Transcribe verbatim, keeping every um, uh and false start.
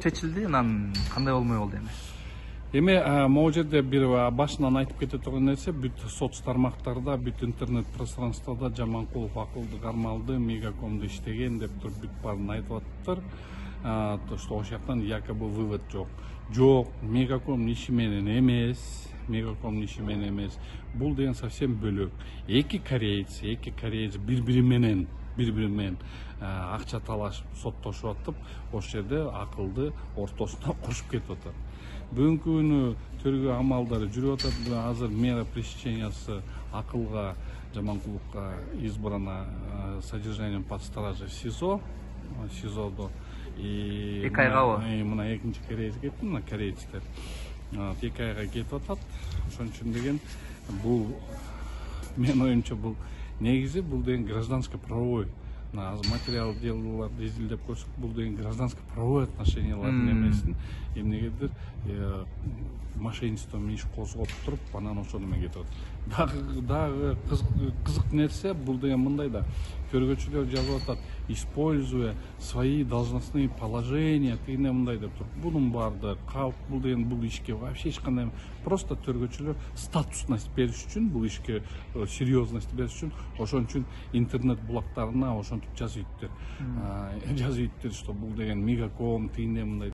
чечилди, анан кандай болмой болду эми? Эми могу жерде бир башынан айтып кете турган нерсе, бүт соц тармактарда, бүт интернет пространствода Жаманкулов акылды кармалды, Мегакомду иштеген деп туруп бүт баарын айтып атыптыр. То что ошол жактан якобы вывод жок. Жок, Мегаком иши менен эмес, Мегаком иши менен эмес. Бул деген совсем бөлөк. Эки кореец, эки кореец бири-бири менен бири-бири менен акча талашып, соттошуп атып, ошол жерде акылды ортосуна кошуп кетип атат. Бүгүнкү күнү тергөө амалдары жүрүп атат. Азыр мера пресечениясы акылга, Жаманкуловго избрано содержанием под стражей в СИЗО, СИЗОдо. Эки айгабы? Мына экинчи кореец кетти, мына корейцтер. Эки айга кетип атат. Ошон үчүн деген бул менин оюмча бул негизи бул деген гражданско правовой. Азыр материал делолорду изилдеп көрсөк, бул деген гражданско правовой отношениялардын эмесин эмнегедир мошенничеством иш козгоп туруп, анан ошону менен кетип атат. Дагы дагы кызык нерсе бул деген мындай да, көргөчүлөр жазып атат, используя свои должностные положения, тигине мындай деп туруп. Бунун баардыгы калп, бул деген бул ишке вообще эч кандай просто төргөчүлөр статусность бериш үчүн, бул ишке серьезность бериш үчүн, ошон үчүн интернет блоктарына ошентип жазып ийиптир. Жазып ийиптир, что бул деген Мегаком, тигине мындай